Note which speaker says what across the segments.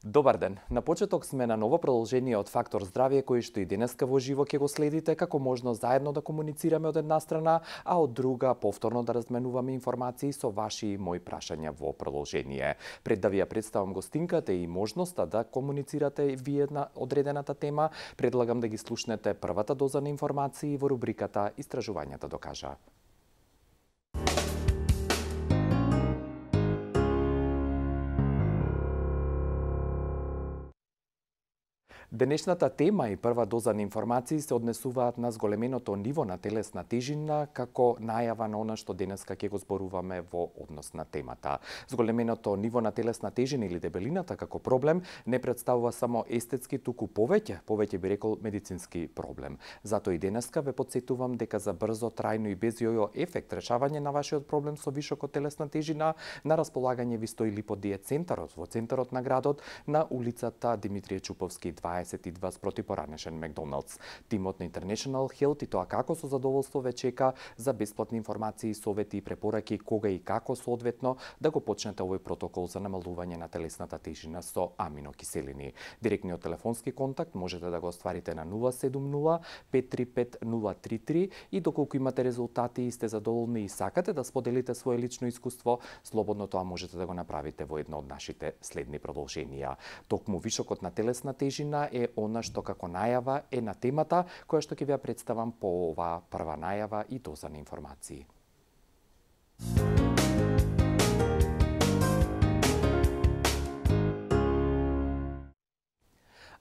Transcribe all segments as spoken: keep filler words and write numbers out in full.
Speaker 1: Добар ден. На почеток сме на ново продолжение од Фактор здравје, кој што и денеска во живо ќе го следите, како можно заедно да комуницираме од една страна, а од друга повторно да разменуваме информации со ваши и мои прашања во продолжение. Пред да ви ја представам гостинката и можноста да комуницирате вие на одредената тема, предлагам да ги слушнете првата доза на информации во рубриката Истражувањата докажа. Денешната тема и прва доза на информации се однесуваат на зголеменото ниво на телесна тежина како најава на она што денеска ќе го зборуваме во однос на темата. Зголеменото ниво на телесна тежина или дебелината како проблем не представува само естетски, туку повеќе, повеќе би рекол медицински проблем. Затоа и денеска ве потсетувам дека за брзо, трајно и без јојо ефект решавање на вашиот проблем со вишокот телесна тежина на располагање ви стои Липодиет центарот во центарот на градот на улицата Димитрije Чуповски дваесет и два спроти поранешен Макдоналдс. Тимот на International Health и тоа како со задоволство ве чека за бесплатни информации, совети и препораки кога и како соодветно да го почнете овој протокол за намалување на телесната тежина со аминокиселини. Директниот телефонски контакт можете да го остварите на нула седум нула пет три пет нула три три и доколку имате резултати и сте задоволни и сакате да споделите свое лично искуство, слободно тоа можете да го направите во едно од нашите следни продолженија. Токму вишокот на телесна тежина е она што како најава е на темата која што ќе ви ја представам по оваа прва најава и доза на информации.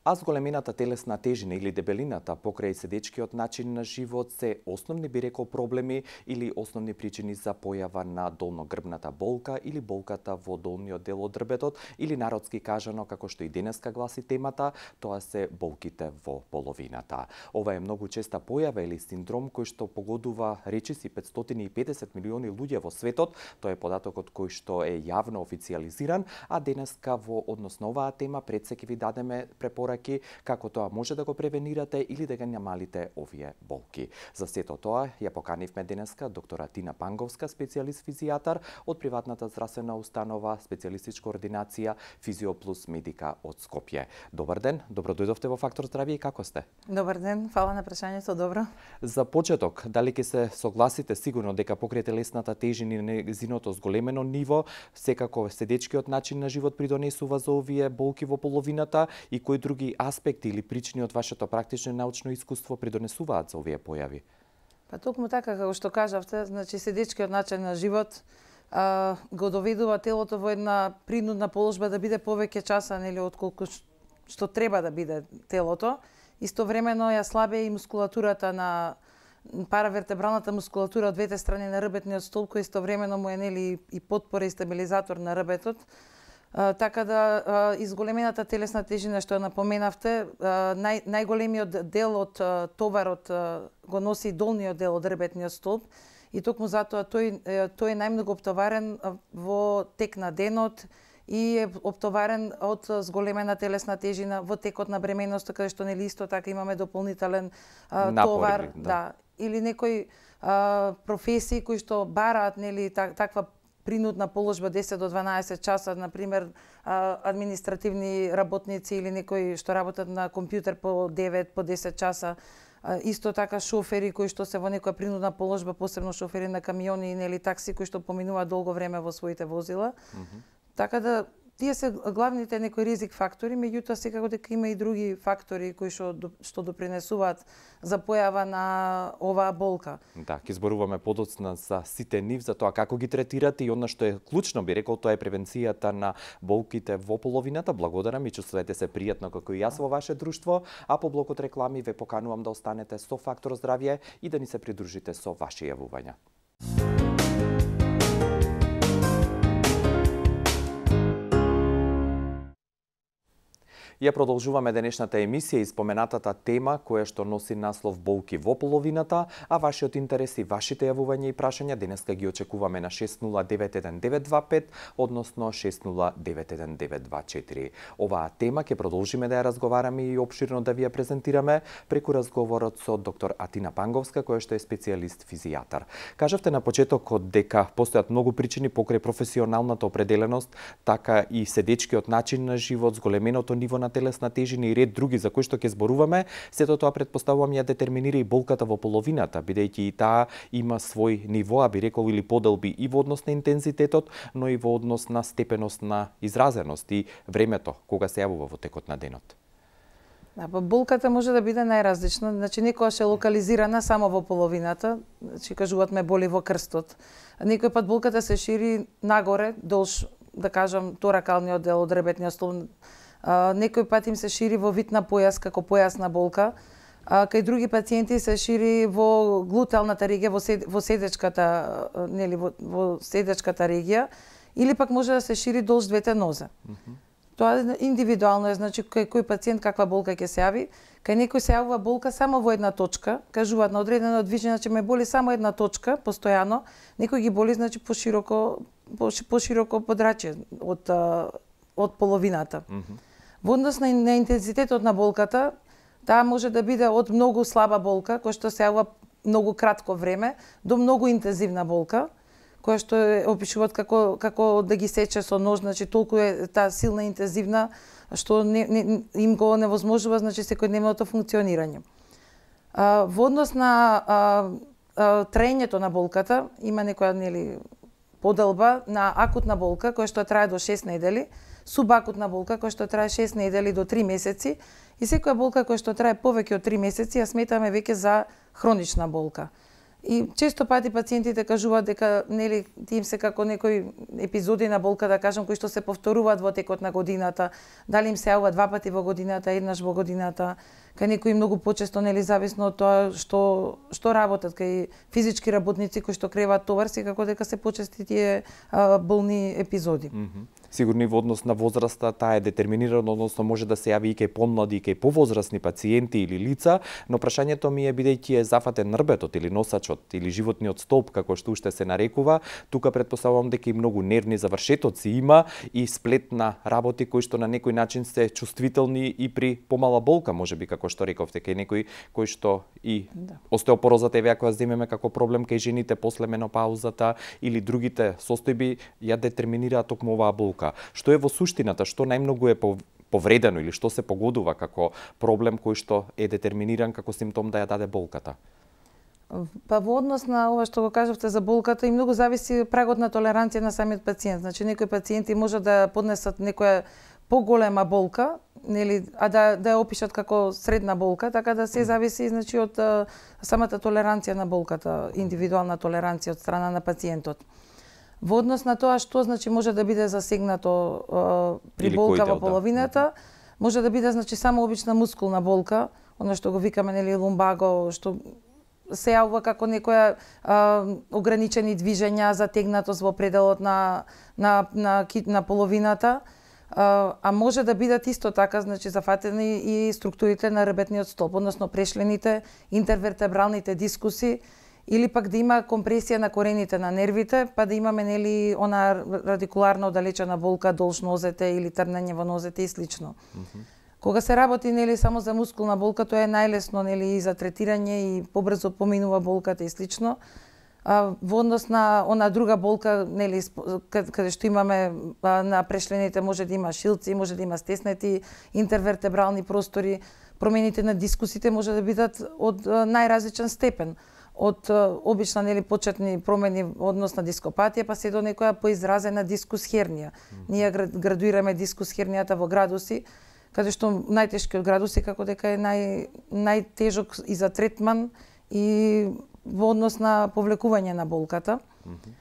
Speaker 1: А зголемената телесна тежина или дебелината покрај седечкиот начин на живот се основни би рекол проблеми или основни причини за појава на долногрбната болка или болката во долниот дел од дрбетот или народски кажано како што и денеска гласи темата, тоа се болките во половината. Ова е многу честа појава или синдром кој што погодува речиси петстотини и педесет милиони луѓе во светот, тоа е податокот кој што е јавно официјализиран, а денеска во однос на оваа тема пред се ќе ви дадеме препораки како тоа може да го превенирате или да ги намалите овие болки. За сето тоа ја поканивме денеска доктора Тина Панговска, специјалист физијатар од приватната здравствена установа, специјалистичка ординација Физиоплус Медика од Скопје. Добар ден, добро дојдовте во Фактор здравје и како сте?
Speaker 2: Добар ден, фала на прашањето, добро.
Speaker 1: За почеток, дали ќе се согласите сигурно дека покрај телесната тежина и нејзиното зголемено ниво, секако седечкиот начин на живот придонесува за овие болки во половината и кои други аспекти или причини од вашето практично и научно искуство придонесуваат за овие појави?
Speaker 2: Па токму така како што кажавте, значи седечкиот начин на живот а, го доведува телото во една принудна положба да биде повеќе часа нели отколку што треба да биде телото. Истовремено ја слабе и мускулатурата на паравертебралната мускулатура од двете страни на рбетниот столб, кој истовремено му е нели и потпора и стабилизатор на рбетот. Uh, така да uh, изголемената телесна тежина што ја напоменавте, uh, нај, најголемиот дел од uh, товарот uh, го носи долниот дел од рбетниот столб и токму затоа тој, тој е најмногу оптоварен uh, во тек на денот и е оптоварен од зголемена телесна тежина во текот на бременоста, каде што нели исто така имаме дополнителен uh,
Speaker 1: Напори,
Speaker 2: товар,
Speaker 1: да.
Speaker 2: да, или некои uh, професии кои што бараат нели так, таква принудна положба десет до дванаесет часа, на пример административни работници или некои што работат на компјутер по девет, по десет часа. Исто така шофери кои што се во некоја принудна положба, посебно шофери на камиони и нели такси кои што поминуваат долго време во своите возила. Mm-hmm. Така да тие се главните некои ризик фактори, меѓутоа секако дека има и други фактори кои што што допринесуваат за појава на оваа болка.
Speaker 1: Да, ќе зборуваме подоцна за сите нив, за тоа како ги третирате и она што е клучно, би рекол, тоа е превенцијата на болките во половината. Благодарам и чувствувате се пријатно како и јас во ваше друштво, а по блокот реклами ве поканувам да останете со Фактор здравје и да ни се придружите со ваши јавувања. Ја продолжуваме денешната емисија и споменатата тема која што носи наслов болки во половината, а вашиот интерес и вашите јавувања и прашања денеска ги очекуваме на шест нула девет еден девет два пет, односно шест нула девет еден девет два четири. Оваа тема ќе продолжиме да ја разговараме и опширно да ви ја презентираме преку разговорот со доктор Атина Панговска, која што е специјалист физијатар. Кажавте на почетокот дека постојат многу причини покрај професионалната определеност, така и седечкиот начин на живот, зголеменото ниво на телесна тежина и ред други за кои што ќе зборуваме. Сето тоа претпоставувам ја детерминира и болката во половината, бидејќи и таа има свој ниво, а би рекол или поделби и во однос на интензитетот, но и во однос на степеност на изразеност и времето кога се јавува во текот на денот.
Speaker 2: Да, па болката може да биде најразлична, значи некојаш е локализирана само во половината, значи кажуваат ме боли во крстот. Некој пат болката се шири нагоре, долж, да кажам, торакалниот дел од ребетниот столб. Некој пат им се шири во вид на појас, како појасна болка, а кај други пациенти се шири во глуталната регија, во, сед, во седечката, нели, во, во седечката регија, или пак може да се шири долж двете нозе. Mm -hmm. Тоа индивидуално е, значи кај кој пациент каква болка ќе се јави. Кај некој се јавува болка само во една точка, кажуваат на одредено движење, значи ме боли само една точка, постојано, некој ги боли, значи пошироко, пошироко подрачје од, од половината. Mm -hmm. Во однос на, на интензитетот на болката, таа може да биде од многу слаба болка, која што се јавува многу кратко време, до многу интензивна болка, која што е опишуваат како како да ги сече со нож, значи толку е таа силна интензивна што не, не, им го невозможува, значи секојдневното функционирање. А, во однос на а, а, траењето на болката има некоја нели поделба на акутна болка која што трае до шест недели, субакутна болка која што трае шест недели до три месеци и секоја болка која што трае повеќе од три месеци ја сметаме веќе за хронична болка. И често пати пациентите кажуваат дека нели им се како некои епизоди на болка, да кажам, кои што се повторуваат во текот на годината, дали им се јавува два пати во годината, еднаш во годината, кај некои многу почесто, нели зависно од тоа што што работат, кај физички работници кои што креваат товар, секако дека се почести тие а, болни епизоди. Mm -hmm.
Speaker 1: Сигурно и во однос на возраста таа е детерминирана, односно може да се јави и кај помлади и кај повозрасни пациенти или лица, но прашањето ми е бидејќи е зафатен нрбетот или носачот или животниот столб како што уште се нарекува, тука претпоставувам дека и многу нервни завршетоци има и сплет на работи кои што на некој начин се чувствителни и при помала болка, можеби како што рековте, кај некои кои што и да. Остеопорозата еве ако ја земеме како проблем кај жените после менопаузата или другите состојби ја детерминираат токму оваа болка. Што е во суштината, што најмногу е повредено или што се погодува како проблем кој што е детерминиран како симптом да ја даде болката?
Speaker 2: Па во однос на ова што го кажавте за болката и многу зависи прагот на толеранција на самиот пациент. Значи некои пациенти може да поднесат некоја поголема болка, нели, а да да ја опишат како средна болка, така да се зависи значи од а, самата толеранција на болката, индивидуална толеранција од страна на пациентот. Во однос на тоа што значи може да биде засегнато а, при или болка во половината, да. Може да биде значи само обична мускулна болка, она што го викаме нели лумбаго, што се јавува како некоја а, ограничени движења, затегнатост во пределот на на на, на половината, а, а може да бидат исто така значи зафатени и структурите на ребетниот столб, односно прешлените, интервертебралните дискуси, или пак да има компресија на корените на нервите, па да имаме нели она радикуларно оддалечена болка долж нозете или трнење во нозете и слично. Mm -hmm. Кога се работи нели само за мускулна болка, тоа е најлесно нели и за третирање и побрзо поминува болката и слично. А, во однос на она друга болка нели каде што имаме а, на прешлените може да има шилци, може да има стеснети интервертебрални простори, промените на дискусите може да бидат од а, најразличен степен. Од а, обична нели почетни промени однос на дископатија па се до некоја поизразена дискус хернија. Mm -hmm. Ние градуираме дискус хернијата во градуси, каде што најтешкиот градус е како дека е нај најтежок и за третман и во однос на повлекување на болката. Mm -hmm.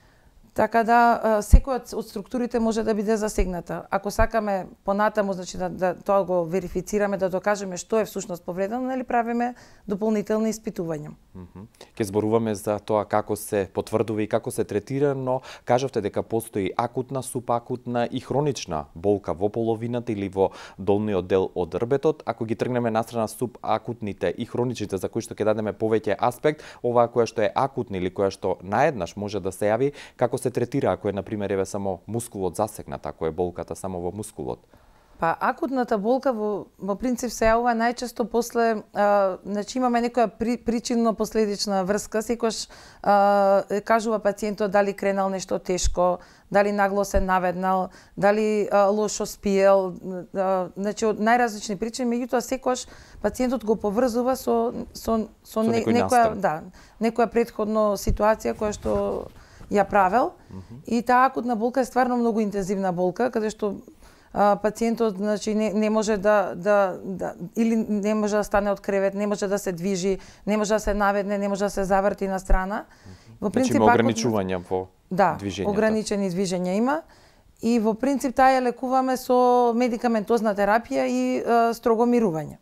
Speaker 2: Така да секоја од структурите може да биде засегната. Ако сакаме понатаму, значи да, да тоа го верифицираме, да докажеме што е всушност повредено, нели правиме дополнителни испитувања.
Speaker 1: Mm -hmm. Ке зборуваме за тоа како се потврдува и како се третира, но кажавте дека постои акутна, субакутна и хронична болка во половината или во долниот дел од рбетот. Ако ги тргнеме настрана субакутните и хроничните, за кои што ќе дадеме повеќе аспект, оваа која што е акутна или која што наеднаш може да се јави, како се третира ако е на пример еве само мускулот засегнат, ако е болката само во мускулот?
Speaker 2: Па акутната болка во, во принцип се јавува најчесто после, а, значи имаме некоја при, причинно-последична врска, секогаш а, кажува пациентот дали кренал нешто тешко, дали нагло се наведнал, дали а, лошо спиел, а, значи од најразлични причини, меѓутоа секогаш пациентот го поврзува со со со, со не, некоја да, некоја претходно ситуација која што ја правел. Mm -hmm. И таа акутна болка е стварно многу интензивна болка, каде што а, пациентот значи не, не може да, да, да или не може да стане од кревет, не може да се движи, не може да се наведне, не може да се заврти на страна.
Speaker 1: Во принцип значи, има ограничувања во
Speaker 2: да,
Speaker 1: движењето. Да,
Speaker 2: ограничени движења има. И во принцип таа ја лекуваме со медикаментозна терапија и а, строго мирување.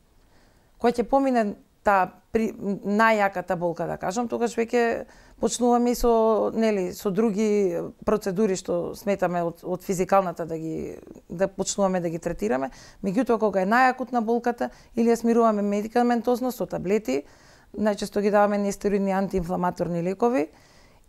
Speaker 2: Кога ќе помине таа при најјаката болка, да кажам, тогаш веќе почнуваме и со нели со други процедури што сметаме од од физикалната да ги да почнуваме да ги третираме. Меѓутоа кога е најакутна болката или ја смируваме медикаментозно со таблети, најчесто ги даваме нестероидни антиинфламаторни лекови,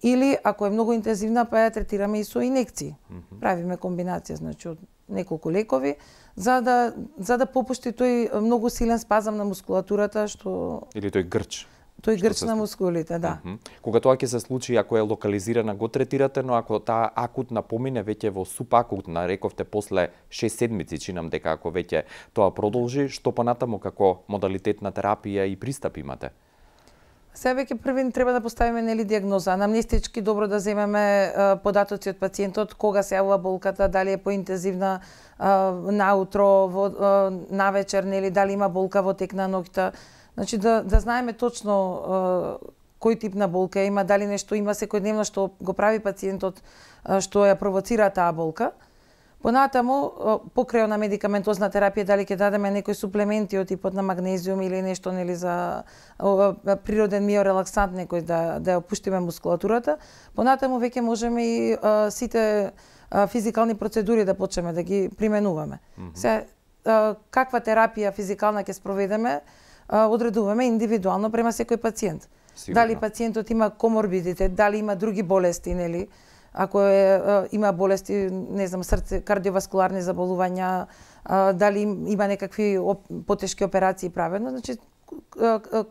Speaker 2: или ако е многу интензивна па ја третираме и со инекции. Mm -hmm. Правиме комбинација значи од неколку лекови за да за да попушти тој многу силен спазам на мускулатурата што
Speaker 1: или тој грч.
Speaker 2: Тој грч на мускулите, да.
Speaker 1: Uh -huh. Кога тоа ќе се случи, ако е локализирана, го третирате, но ако таа акутна помине веќе во субакутна, рековте после шест седмици, чинам дека ако веќе тоа продолжи, што понатаму како модалитет на терапија и пристап имате?
Speaker 2: Се веќе први треба да поставиме нели диагноза, анамнестички добро да земеме а, податоци од пациентот, кога се јавува болката, дали е поинтензивна наутро, во а, навечер, нели дали има болка во тек на ноќта. Значи да да знаеме точно а, кој тип на болка има, дали нешто има секојдневно што го прави пациентот а, што ја провоцира таа болка. Понатаму, покрај на медикаментозна терапија, дали ќе дадеме некои суплементи од типот на магнезиум или нешто нели за о, природен миорелаксант некој да да ја опуштиме мускулатурата. Понатаму веќе можеме и а, сите а, физикални процедури да почнеме да ги применуваме. Mm -hmm. Се а, каква терапија физикална ќе спроведеме, а, одредуваме индивидуално према секој пациент. Сигурно. Дали пациентот има коморбидитет, дали има други болести, нели? Ако е, има болести, не знам, срце, кардиоваскуларни заболувања, дали има некакви потешки операции правено, значи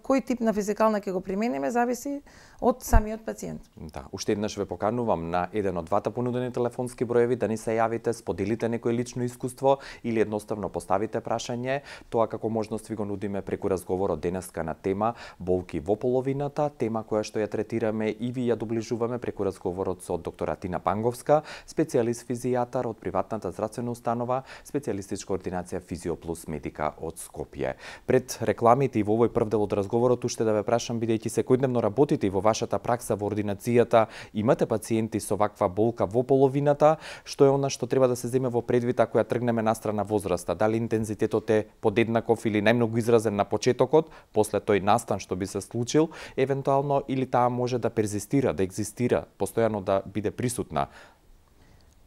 Speaker 2: кој тип на физикална ќе го примениме зависи од самиот пациент.
Speaker 1: Да, уште еднаш ве поканувам на еден од двата понудени телефонски броеви да ни се јавите, споделите некој лично искуство или едноставно поставите прашање. Тоа како можност ви го нудиме преку разговорот денеска на тема болки во половината, тема која што ја третираме и ви ја доближуваме преку разговорот со доктора Тина Панговска, специјалист физијатар од приватната здравствена установа, специјалистичка ординација Физиоплус Медика од Скопје. Пред рекламите и во овој прв дел од разговорот уште да ве прашам, бидејќи секојдневно работите и во вашата пракса во ординацијата, имате пациенти со ваква болка во половината, што е она што треба да се земе во предвид ако ја тргнеме настрана возраста, дали интензитетот е подеднаков или најмногу изразен на почетокот, после тој настан што би се случил, евентуално или таа може да перзистира, да екзистира, постојано да биде присутна.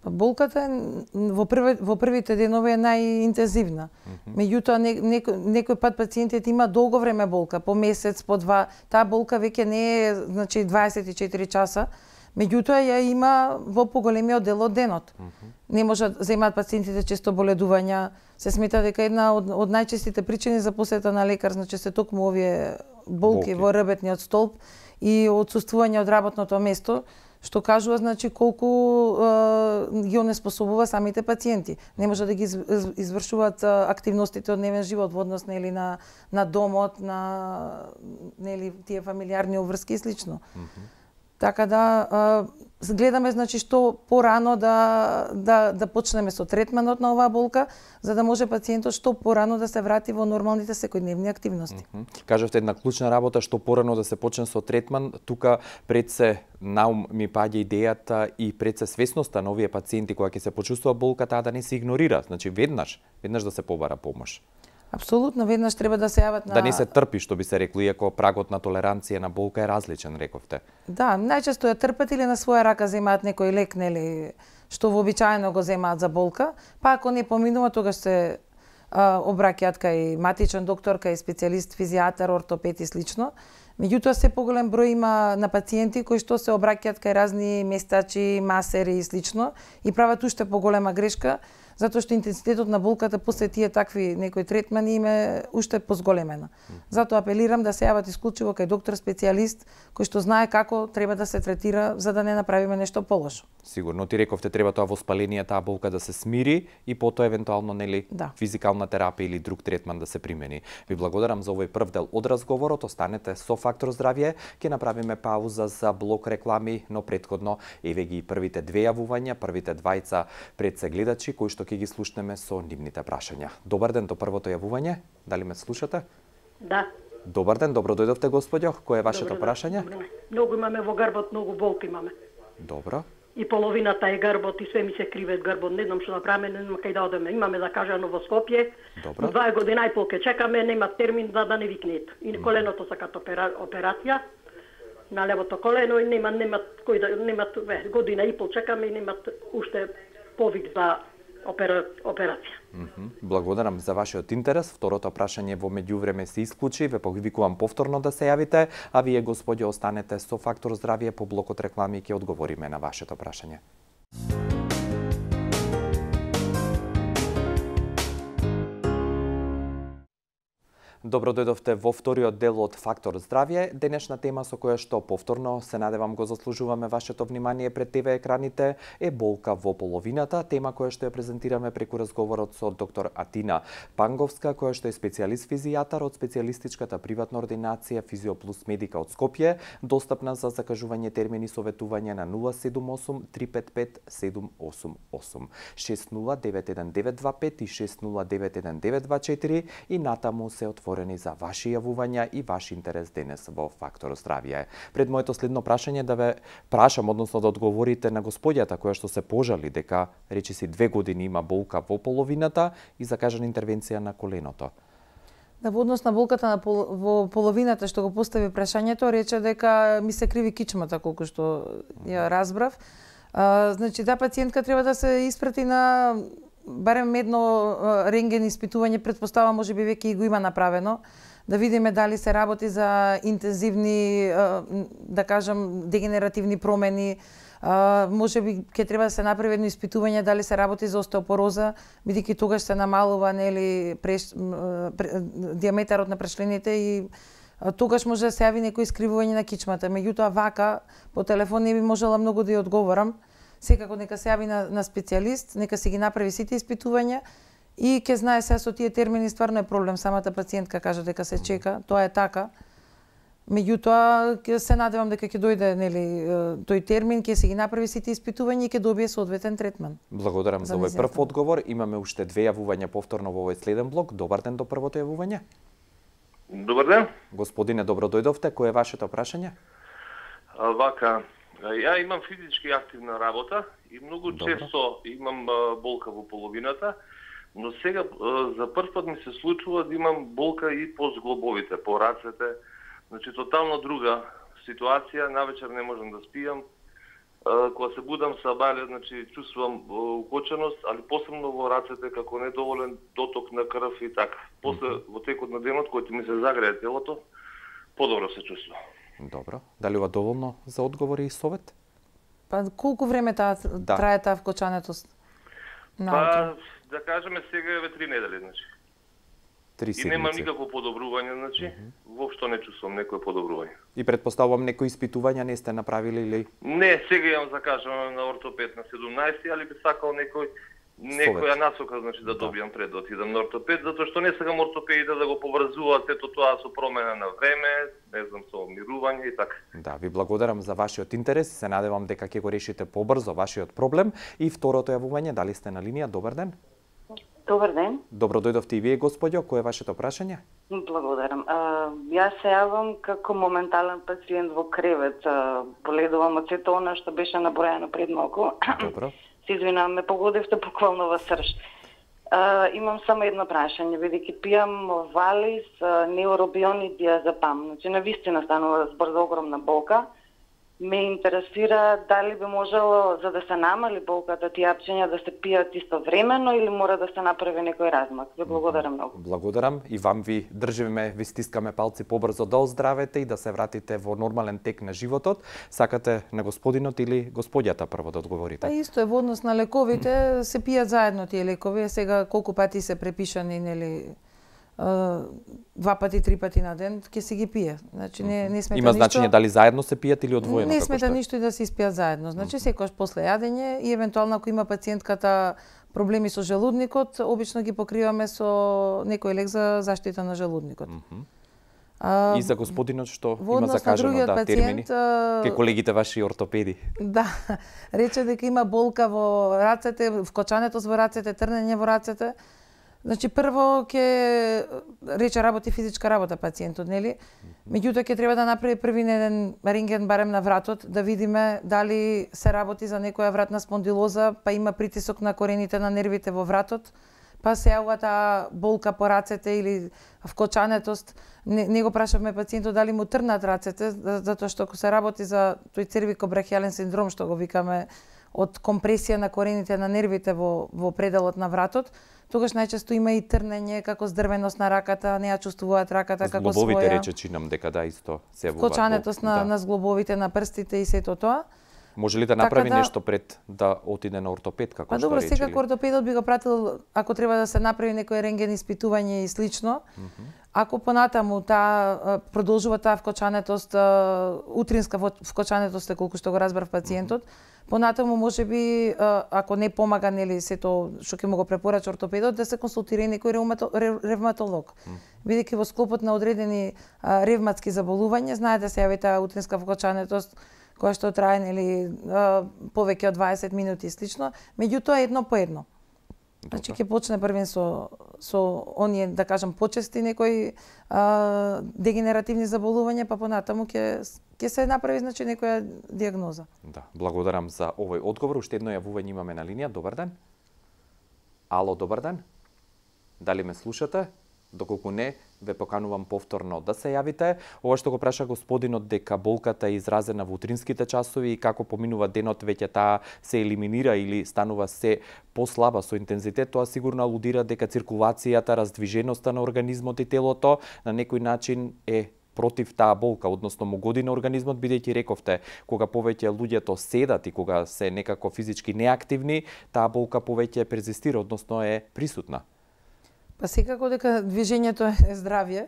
Speaker 2: Болката во први, во првите денови е најинтензивна. Mm -hmm. Меѓутоа не, некој, некој пат пациентите има долго време болка, по месец, по два. Таа болка веќе не е значи дваесет и четири часа, меѓутоа ја има во поголемиот дел од денот. Mm -hmm. Не може да земаат пациентите често боледувања. Се смета дека една од, од најчестите причини за посета на лекар значи се токму овие болки, болки во ребетниот столб и отсуствување од работното место, што кажува значи колку е, ги онеспособува самите пациенти. Не може да ги извршуваат активностите од дневен живот во однос нели на на домот, на нели тие фамилиарни обврски и слично. Mm -hmm. Така да а, гледаме значи што порано да да да почнеме со третманот на оваа болка, за да може пациентот што порано да се врати во нормалните секојдневни активности.
Speaker 1: Mm -hmm. Кажавте една клучна работа што порано да се почне со третман, тука пред се на ум ми паѓа идејата и пред се свесноста на овие пациенти кога ќе се почувствува болка, таа да не се игнорира, значи веднаш, веднаш да се побара помош.
Speaker 2: Апсолутно, веднаш треба да се јават на...
Speaker 1: Да не се трпи, што би се рекло, иако прагот на толеранција на болка е различен, рековте.
Speaker 2: Да, најчесто ја трпат или на своја рака земаат некој лек, нели, што вообичаено го земаат за болка, па ако не поминува, тогаш се а, обраќаат кај матичен доктор, кај специјалист, физијатар, ортопед и слично. Меѓутоа, се поголем број има на пациенти кои што се обраќаат кај разни местачи, масери и слично и прават уште поголема грешка, затоа што интензитетот на болката после тие такви некои третмани им е уште позголемена. Затоа апелирам да се јават исклучиво кај доктор специјалист кој што знае како треба да се третира за да не направиме нешто полошо.
Speaker 1: Сигурно ти рековте треба тоа воспаление, таа болка да се смири и потоа евентуално нели
Speaker 2: да.
Speaker 1: физикална терапија или друг третман да се примени. Ви благодарам за овој прв дел од разговорот. Останете со Фактор здравје. Ќе направиме пауза за блок реклами, но претходно еве ги првите две јавувања, првите двајца пред се гледачи кои што ќе ги слушнеме со нивните прашања. Добар ден, до првото јавување. Дали ме слушате?
Speaker 3: Да.
Speaker 1: Добар ден, добро дојдовте, господјо. Кој е вашето
Speaker 3: Добро,
Speaker 1: прашање?
Speaker 3: Добро. Многу имаме во грбот, многу болки имаме.
Speaker 1: Добро.
Speaker 3: И половината е грбот и све ми се криве грбот. Не знам што направиме, не знам кај да одеме. Имаме закажано во Скопје.
Speaker 1: Добро.
Speaker 3: Два година и пол ке чекаме, нема термин за да не викнет. И коленото сакат опера, операција на левото колено и нема нема кој да нема година и пол чекаме и немат уште повик за опера, операција.
Speaker 1: Mm -hmm. Благодарам за вашиот интерес. Второто прашање во меѓувреме се исклучи. Ве повикувам повторно да се јавите, а вие, господјо, останете со Фактор здравје. По блокот реклами ќе одговориме на вашето прашање. Добро дојдовте во вториот дел од Фактор здравје. Денешна тема со која што повторно се надевам го заслужуваме вашето внимание пред ТВ екраните е болка во половината, тема која што ја презентираме преку разговорот со доктор Атина Панговска, која што е специјалист физијатар од специјалистичката приватна ординација Физиоплус Медика од Скопје, достапна за закажување термини советување на нула седум осум три пет пет седум осум осум, шест нула девет еден девет два пет и шест нула девет еден девет два четири и натаму се отворени за ваши јавувања и ваш интерес денес во Фактор здравје. Пред моето следно прашање да ве прашам, односно да одговорите на господјата која што се пожали дека речиси две години има болка во половината и закажана интервенција на коленото.
Speaker 2: Да, во однос на болката на пол, во половината што го постави прашањето, рече дека ми се криви кичмата, колку што ја разбрав. А, значи, да, пациентка треба да се испрати на барем едно рентген испитување, предпоставам можеби веќе го има направено, да видиме дали се работи за интензивни, да кажам, дегенеративни промени, можеби ќе треба да се направи едно испитување дали се работи за остеопороза, бидејќи тогаш се намалува нели преш, диаметарот на прешлените и тогаш може да се јави некој искривување на кичмата. Меѓутоа вака по телефон не би можела многу да ја одговорам. Секако нека се јави на, на специјалист, нека се ги направи сите испитувања и ќе знае се со тие термини стварно е проблем. Самата пациентка кажа дека се чека, тоа е така. Меѓутоа ќе се надевам дека ќе дојде нели тој термин, ќе се ги направи сите испитувања и ќе добие соодветен третман.
Speaker 1: Благодарам за, за овој прв одговор. Имаме уште две јавувања повторно во овој следен блок. Добар ден до првото јавување.
Speaker 4: Добар ден.
Speaker 1: Господине, добро дојдовте. Кој е вашето прашање?
Speaker 4: А, вака, ја имам физички активна работа и многу Добро. често имам а, болка во половината, но сега а, за прв пат ми се случува да имам болка и по зглобовите, по рацете. Значи, тотално друга ситуација, навечер не можам да спијам. А, кога се будам сабале, значи, чувствувам укоченост, али посебно во рацете, како недоволен доток на крв и така. После, mm -hmm. во текот на денот, кој ми се загрее телото, подобро се чувствувам.
Speaker 1: Добро. Дали ова доволно за одговори и совет?
Speaker 2: Па колку време таа да. трае таа вкочането?
Speaker 4: Па, да кажеме сега е три недели, значи.
Speaker 1: Три седмици.
Speaker 4: И нема никакво подобрување, значи, mm -hmm. воопшто не чувствувам некое подобрување.
Speaker 1: И предпоставувам некои испитувања не сте направили или?
Speaker 4: Не, сега имам закажано на ортопед на седумнаесети, али би сакал некој некоја насока, значи да добијам пред да отидам на ортопед, затоа што не сакам ортопедите да го поврзуваат сето тоа со промена на време, не знам, со мирување и така.
Speaker 1: Да, ви благодарам за вашиот интерес, се надевам дека ќе го решите побрзо вашиот проблем. И второто јавување, дали сте на линија? Добар ден.
Speaker 5: Добар ден.
Speaker 1: Добро дојдовте и вие, господјо. Кој е вашето прашање?
Speaker 5: Благодарам. А, јас се јавам како моментален пациент во кревет. А, боледувам од сето она што беше набројано пред малку.
Speaker 1: Добро.
Speaker 5: Се извинувам, ме погодевте буквално во срж. А, имам само едно прашање, бидејќи пијам Валис, неуробион и диазепам. Значи, навистина станува збор за огромна болка. Ме интересира дали би можело, за да се намали болката, тие апчиња да се пијат истовремено или мора да се направи некој размак. Ви благодарам многу.
Speaker 1: Благодарам и вам ви држиме, ви стискаме палци побрзо да оздравете и да се вратите во нормален тек на животот. Сакате на господинот или господјата прво да одговорите?
Speaker 2: Па исто е во однос на лековите, се пијат заедно тие лекови, сега колку пати се препишани, нели, два пати, три пати на ден, ќе се ги пие. Значи не не смета
Speaker 1: Има
Speaker 2: ништо.
Speaker 1: значење дали заедно се пијат или одвоено?
Speaker 2: Не
Speaker 1: како
Speaker 2: смета
Speaker 1: што е?
Speaker 2: ништо и да се испијат заедно. Значи секогаш после јадење и евентуално ако има пациентката проблеми со желудникот, обично ги покриваме со некој лек за заштита на желудникот. А,
Speaker 1: И за господинот што
Speaker 2: во
Speaker 1: има
Speaker 2: однос на
Speaker 1: закажано
Speaker 2: другиот
Speaker 1: да термини?
Speaker 2: пациент, а,
Speaker 1: Ке колегите ваши ортопеди.
Speaker 2: Да, рече дека има болка во рацете, вкочането во рацете, трнење во рацете. Значи прво ќе рече работи физичка работа пациентот, нели? Меѓутоа ќе треба да направи први еден рентген барем на вратот да видиме дали се работи за некоја вратна спондилоза, па има притисок на корените на нервите во вратот, па се јавува таа болка по рацете или вкочанетост. Не, не го прашавме пациентот дали му трнат рацете, затоа што ако се работи за тој цервикобрахијален синдром што го викаме од компресија на корените на нервите во во пределот на вратот, тогаш најчесто има и трнење, како здрвеност на раката, не ја чувствуваат раката како своја.
Speaker 1: Зглобовите рече чинам дека да исто се јавуваат.
Speaker 2: Вкочанетост на,
Speaker 1: да.
Speaker 2: на зглобовите, на прстите и сето тоа.
Speaker 1: Може ли да направи
Speaker 2: така да,
Speaker 1: нешто пред да отиде на ортопед, како
Speaker 2: па
Speaker 1: што
Speaker 2: добро,
Speaker 1: рече?
Speaker 2: секако ортопедот би го пратил ако треба да се направи некој рентген испитување и слично. Mm -hmm. Ако понатаму таа продолжува таа вкочанетост, утринска вкочанетост е колку што го разбрав пациентот, mm -hmm. понатаму можеби ако не помага нели сето што ќе му го препорача ортопедот да се консултира и некој ревматолог. Mm -hmm. Бидејќи во склопот на одредени ревматски заболувања знае да се јави таа утринска вкочанетост која што трае нели повеќе од дваесет минути и слично, меѓутоа едно по едно. Значи ќе почне првен со со оние да кажам почести некои а, дегенеративни заболувања, па понатаму ќе ќе се направи значи некоја дијагноза.
Speaker 1: Да, благодарам за овој одговор. Уште едно јавување имаме на линија. Добар ден. Ало, добар ден. Дали ме слушате? Доколку не, ве поканувам повторно да се јавите. Ова што го праша господинот дека болката е изразена во утринските часови и како поминува денот веќе таа се елиминира или станува се послаба со интензитет, тоа сигурно алудира дека циркулацијата, раздвиженоста на организмот и телото на некој начин е против таа болка, односно му годи на организмот, бидејќи рековте, кога повеќе луѓето седат и кога се некако физички неактивни, таа болка повеќе презистира, односно е присутна.
Speaker 2: Па секако дека движењето е здравје,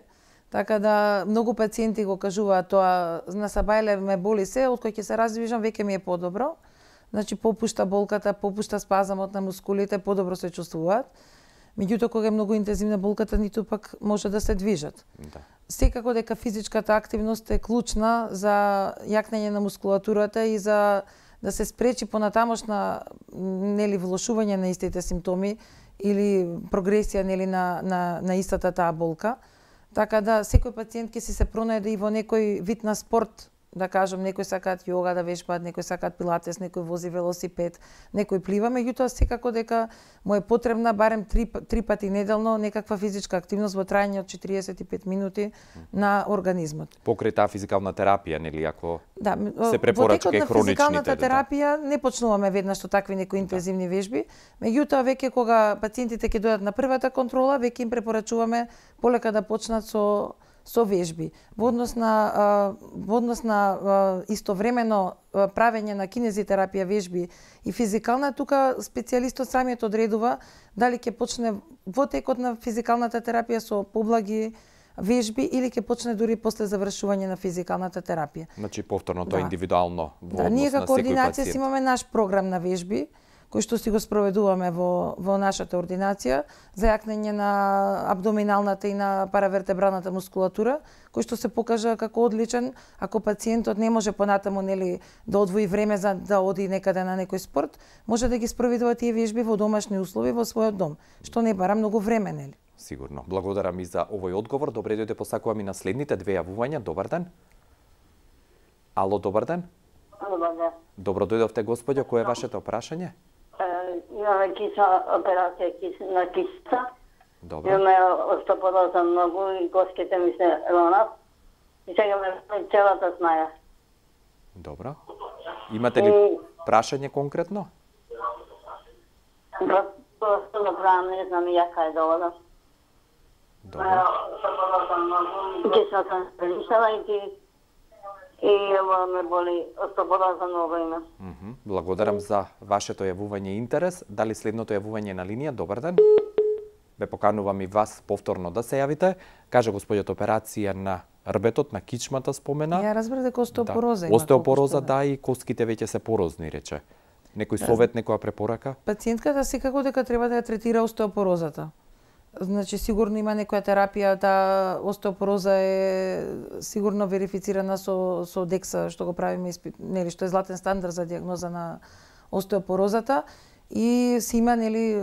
Speaker 2: така да многу пациенти го кажуваат тоа, на сабајле ме боли се, од кој ќе се раздвижам веќе ми е подобро. Значи попушта болката, попушта спазамот на мускулите, подобро се чувствуваат. Меѓутоа кога е многу интензивна болката, ниту пак може да се движат. Да. Секако дека физичката активност е клучна за јакнење на мускулатурата и за да се спречи понатамошна нели влошување на истите симптоми или прогресија нели на на на истата таа болка. Така да секој пациент ќе си се пронајде и во некој вид на спорт, да кажам, некои сакаат јога да вежбаат, некои сакаат пилатес, некој вози велосипед, некој плива, меѓутоа секако дека му е потребна барем три, три пати неделно некаква физичка активност во трајање од четириесет и пет минути на организмот.
Speaker 1: Покрај таа физикална терапија, нели, ако
Speaker 2: да,
Speaker 1: се препорача кај хроничните.
Speaker 2: Во физикалната терапија не почнуваме веднаш со такви некои интензивни вежби, меѓутоа веќе кога пациентите ќе дојдат на првата контрола, веќе им препорачуваме полека да почнат со со вежби. Во однос на во однос на истовремено правење на кинезитерапија вежби и физикална, тука специјалистот самиот одредува дали ќе почне во текот на физикалната терапија со поблаги вежби или ќе почне дури после завршување на физикалната терапија.
Speaker 1: Значи повторно тоа да. Индивидуално во
Speaker 2: да,
Speaker 1: однос
Speaker 2: ние
Speaker 1: на
Speaker 2: како
Speaker 1: секој
Speaker 2: ординација
Speaker 1: пациент.
Speaker 2: имаме наш програм на вежби кој што си го спроведуваме во, во нашата ординација за јакнење на абдоминалната и на паравертебралната мускулатура, кој што се покажа како одличен ако пациентот не може понатаму нели да одвои време за да оди некаде на некој спорт, може да ги спроведува тие вежби во домашни услови во својот дом, што не бара многу време, нели?
Speaker 1: Сигурно. Благодарам и за овој одговор. Добре дојде, посакувам и на следните две јавувања. Добар ден. Ало, добар ден.
Speaker 6: Добар ден.
Speaker 1: Добро дојдовте, господјо. Кој е вашето прашање?
Speaker 6: Имаме киса, операција кис, на киса.
Speaker 1: Добро.
Speaker 6: Имаме остопороза многу и коските ми се ронат. И сега ме целата снаја.
Speaker 1: Добро. Имате ли
Speaker 6: И-
Speaker 1: прашање конкретно?
Speaker 6: Просто да правам, не знам и јака е довода.
Speaker 1: Добро.
Speaker 6: Остопороза многу. Киса съм прилишала и ти и ево ме боли остопороза многу има.
Speaker 1: Мгм. Благодарам за вашето јавување и интерес. Дали следното јавување е на линија? Добар ден. Ве поканувам и вас повторно да се јавите. Каже господјот операција на рбетот, на кичмата спомена.
Speaker 2: Ја разбрав дека остеопороза
Speaker 1: Да.
Speaker 2: има.
Speaker 1: Остеопороза,
Speaker 2: колку што
Speaker 1: да, и коските веќе се порозни, рече. Некој совет, некоја препорака?
Speaker 2: Пациентката секако дека треба да ја третира остеопорозата. Значи сигурно има некоја терапија, таа остеопороза е сигурно верифицирана со со Декса, што го правиме испит, нели што е златен стандард за дијагноза на остеопорозата и се има нели е,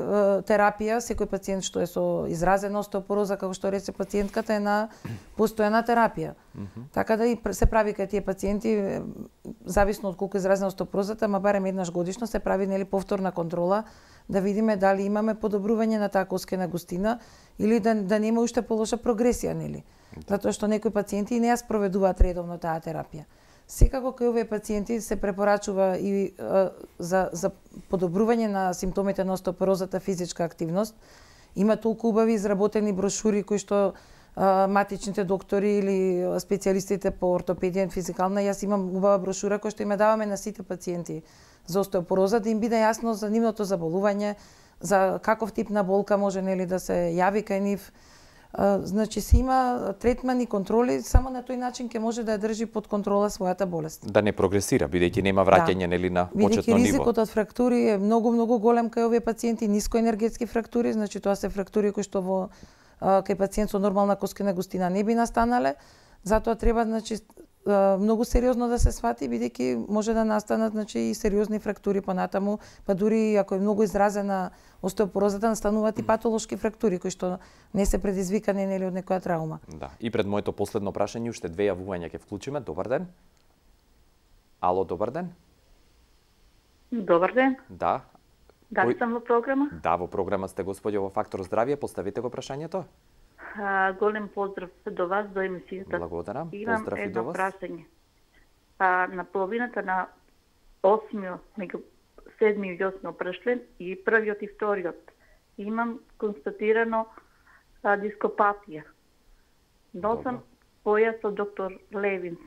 Speaker 2: терапија, секој пациент што е со изразена остеопороза, како што рече пациентката, е на постојана терапија. Така да и пр- се прави кај тие пациенти, е, зависно од колку изразена остеопорозата, ма барем еднаш годишно се прави нели повторна контрола да видиме дали имаме подобрување на таа коскена густина или да, да нема уште полоша прогресија, нели? Затоа што некои пациенти не ја спроведуваат редовно таа терапија. Секако кај овие пациенти се препорачува и е, за, за подобрување на симптомите на остеопорозата физичка активност. Има толку убави изработени брошури кои што а, матичните доктори или специјалистите по ортопедија и физикална, јас имам убава брошура која што им ја даваме на сите пациенти за остеопороза, да им биде јасно за нивното заболување, за каков тип на болка може нели да се јави кај нив. А, значи се има третман и контроли, само на тој начин ќе може да ја држи под контрола својата болест.
Speaker 1: Да не прогресира, бидејќи нема враќање нели на
Speaker 2: Бидејќи
Speaker 1: почетно ниво.
Speaker 2: ризикот од фрактури е многу многу голем кај овие пациенти, нискоенергетски фрактури, значи тоа се фрактури кои што во а, кај пациент со нормална коскена густина не би настанале, затоа треба значи а, многу сериозно да се свати, бидејќи може да настанат значи и сериозни фрактури понатаму, па дури ако е многу изразена остеопорозата, настануваат и патолошки фрактури кои што не се предизвикани нели од некоја травма.
Speaker 1: Да. И пред моето последно прашање уште две јавувања ќе вклучиме. Добар ден. Ало, добар ден.
Speaker 7: Добар ден.
Speaker 1: Да.
Speaker 7: Дали
Speaker 1: Кој-
Speaker 7: сам во програма?
Speaker 1: Да, во програма сте господјо во Фактор здравје, поставите го прашањето.
Speaker 7: А, голем поздрав до вас, до емисијата.
Speaker 1: Благодарам.
Speaker 7: Имам
Speaker 1: Поздрав и до
Speaker 7: едно
Speaker 1: вас.
Speaker 7: прашање. А, на половината на осмиот, меѓу седмиот и осмиот пршлен и првиот и вториот имам констатирано а, дископатија. Носам појас од доктор Левинс.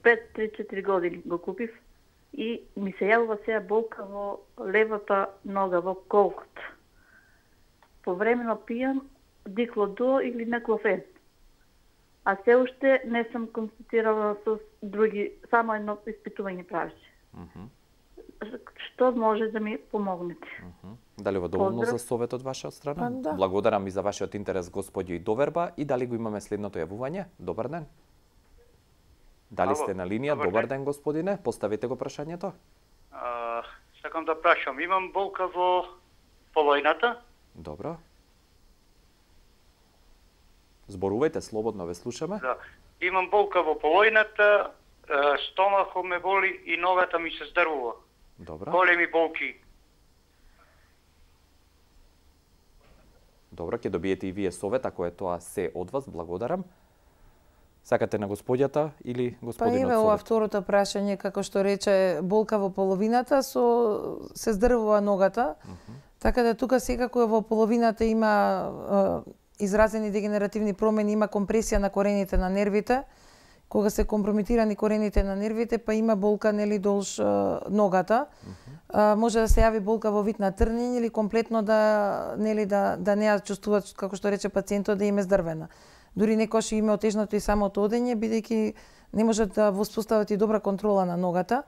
Speaker 7: пет три четири години го купив и ми се јавува сега болка во левата нога, во колкот. Повремено пијам диклодо или наклофен. А се уште не сум констатирала со други, само едно испитување правеше.
Speaker 1: Мгм.
Speaker 7: Што може да ми помогнете?
Speaker 1: Мгм. Дали во доволно
Speaker 7: Поздрав.
Speaker 1: за совет од ваша страна?
Speaker 2: Па, да.
Speaker 1: Благодарам и за вашиот интерес, господјо, и доверба. И дали го имаме следното јавување? Добар ден. Дали
Speaker 8: Ало,
Speaker 1: сте на линија?
Speaker 8: добар
Speaker 1: Добар
Speaker 8: ден.
Speaker 1: ден, господине. Поставите го прашањето.
Speaker 8: А, сакам да прашам, имам болка во полојната,
Speaker 1: Добро. Зборувајте слободно, ве слушаме.
Speaker 8: да. Имам болка во полојната, е, стомахот ме боли и ногата ми се здрвува.
Speaker 1: Добро.
Speaker 8: Големи болки.
Speaker 1: Добро, ќе добиете и вие совет, ако е тоа се од вас. Благодарам. Сакате на господјата или
Speaker 2: Па
Speaker 1: господинот
Speaker 2: еве ова
Speaker 1: совет?
Speaker 2: второто прашање, како што рече, болка во половината, со се здрвува ногата. Така да тука секако во половината има е, изразени дегенеративни промени, има компресија на корените на нервите. Кога се компрометирани корените на нервите, па има болка нели долж е, ногата. А, може да се јави болка во вид на трнење или комплетно да нели да да не ја чувствуваат, како што рече пациентот, да им е здрвена. Дури некојаш им е отежнато и самото одење, бидејќи не можат да воспостават и добра контрола на ногата.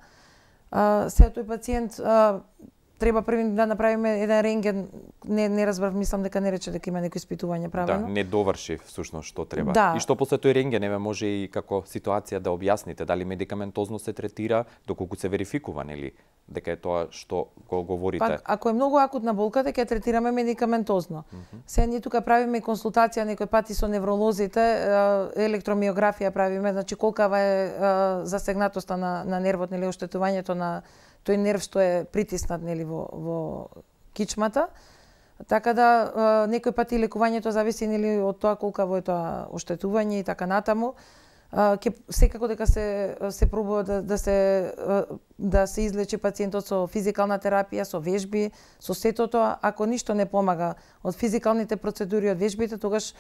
Speaker 2: А, сега тој пациент а, треба први да направиме еден рентген, не не разбрав, мислам дека не рече дека има некои испитување правено.
Speaker 1: Да, не доврши всушност што треба.
Speaker 2: Да.
Speaker 1: И што после тој рентген еве може и како ситуација да објасните дали медикаментозно се третира, доколку се верификува, нели, дека е тоа што го говорите.
Speaker 2: Пак, ако е многу акутна болка, дека ја третираме медикаментозно. Mm -hmm. Се ние тука правиме консултација некој пати со невролозите, електромиографија правиме, значи колкава е засегнатоста на на нервот, нели, оштетувањето на тој нерв што е притиснат, нели, во во кичмата. Така да некој пати лекувањето зависи, нели, од тоа колкаво е тоа оштетување и така натаму. Ке секако дека се се пробува да да се да се излечи пациентот со физикална терапија, со вежби, со сето тоа. Ако ништо не помага од физикалните процедури, од вежбите, тогаш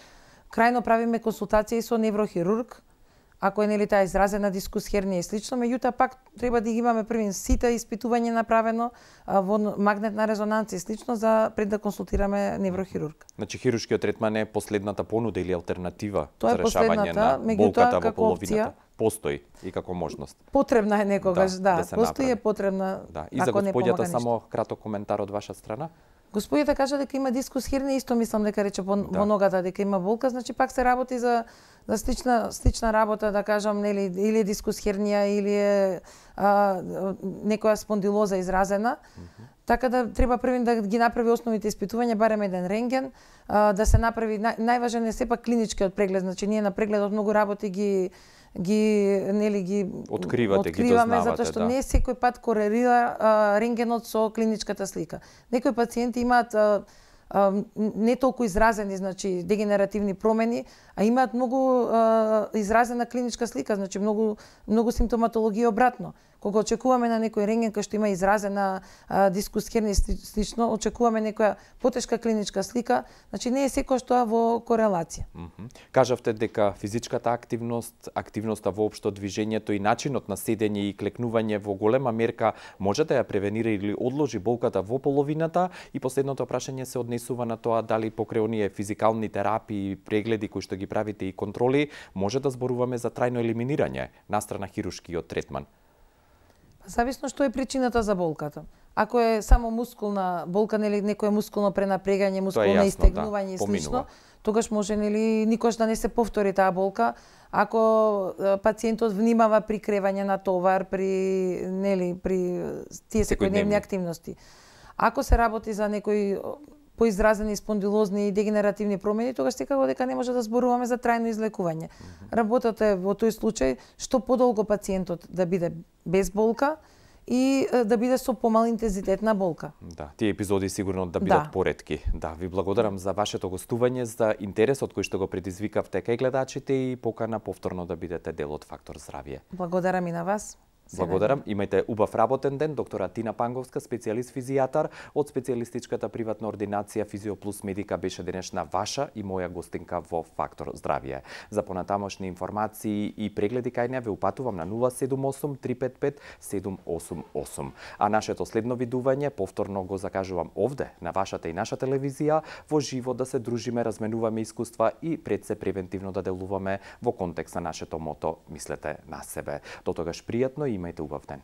Speaker 2: крајно правиме консултација и со неврохирург. Ако е, нели, таа изразена дискус хернија и слично, меѓутоа пак треба да ги имаме први сите испитување направено во магнетна резонанца и слично за пред да консултираме неврохирург.
Speaker 1: Значи хируршкиот третман е последната понуда или алтернатива
Speaker 2: Тоа
Speaker 1: за решавање на болката во половината. Постои и како можност.
Speaker 2: Потребна е некогаш, да,
Speaker 1: да, да
Speaker 2: постои е потребна.
Speaker 1: Да. И за господјата само краток коментар од ваша страна.
Speaker 2: Господјата кажа дека има дискус хернија, исто мислам дека рече во, да. во ногата дека има болка, значи пак се работи за за слична слична работа, да кажам, нели, или е дискус хернија или е а, некоја спондилоза изразена. Mm -hmm. Така да треба први да ги направи основните испитувања, барем еден рентген, а, да се направи нај, најважен е сепак клиничкиот преглед, значи ние на прегледот многу работи ги ги нели ги
Speaker 1: откривате,
Speaker 2: откриваме,
Speaker 1: ги
Speaker 2: затоа што
Speaker 1: да.
Speaker 2: не секој пат корелира а, рентгенот со клиничката слика. Некои пациенти имаат а, а, не толку изразени, значи дегенеративни промени, а имаат многу а, изразена клиничка слика, значи многу многу симптоматологија обратно. Кога очекуваме на некој рентген кој што има изразена а, дискус хернија слично, очекуваме некоја потешка клиничка слика, значи не е секој што во корелација.
Speaker 1: Mm -hmm. Кажавте дека физичката активност, активноста воопшто, движењето и начинот на седење и клекнување во голема мерка може да ја превенира или одложи болката во половината, и последното прашање се однесува на тоа дали покрај оние физикални терапии, прегледи кои што ги правите и контроли, може да зборуваме за трајно елиминирање настрана хирушкиот третман.
Speaker 2: Зависно што е причината за болката. Ако е само мускулна болка, нели некое мускулно пренапрегање, мускулно
Speaker 1: јасно,
Speaker 2: истегнување
Speaker 1: да,
Speaker 2: и слично,
Speaker 1: поминува.
Speaker 2: тогаш може, нели, никош да не се повтори таа болка. Ако пациентот внимава при кревање на товар, при, нели, при тие секојдневни активности. Ако се работи за некои поизразени спондилозни и дегенеративни промени, тогаш секако дека не може да зборуваме за трајно излекување. Mm -hmm. Работата е во тој случај што подолго пациентот да биде без болка и да биде со помал интензитет на болка.
Speaker 1: Да, тие епизоди сигурно да бидат да. поретки. Да, ви благодарам за вашето гостување, за интересот кој што го предизвикавте кај гледачите и покана повторно да бидете дел од Фактор здравје.
Speaker 2: Благодарам и на вас.
Speaker 1: Благодарам. Имајте убав работен ден. Доктора Тина Панговска, специјалист физијатар од специјалистичката приватна ординација Физиоплус Медика, беше денешна ваша и моја гостинка во Фактор здравје. За понатамошни информации и прегледи кај неа ве упатувам на нула седум осум три пет пет седум осум осум. А нашето следно видување повторно го закажувам овде на вашата и наша телевизија, во живо да се дружиме, разменуваме искуства и пред се превентивно да делуваме во контекст на нашето мото "Мислете на себе". До тогаш пријатно и имајте убав ден.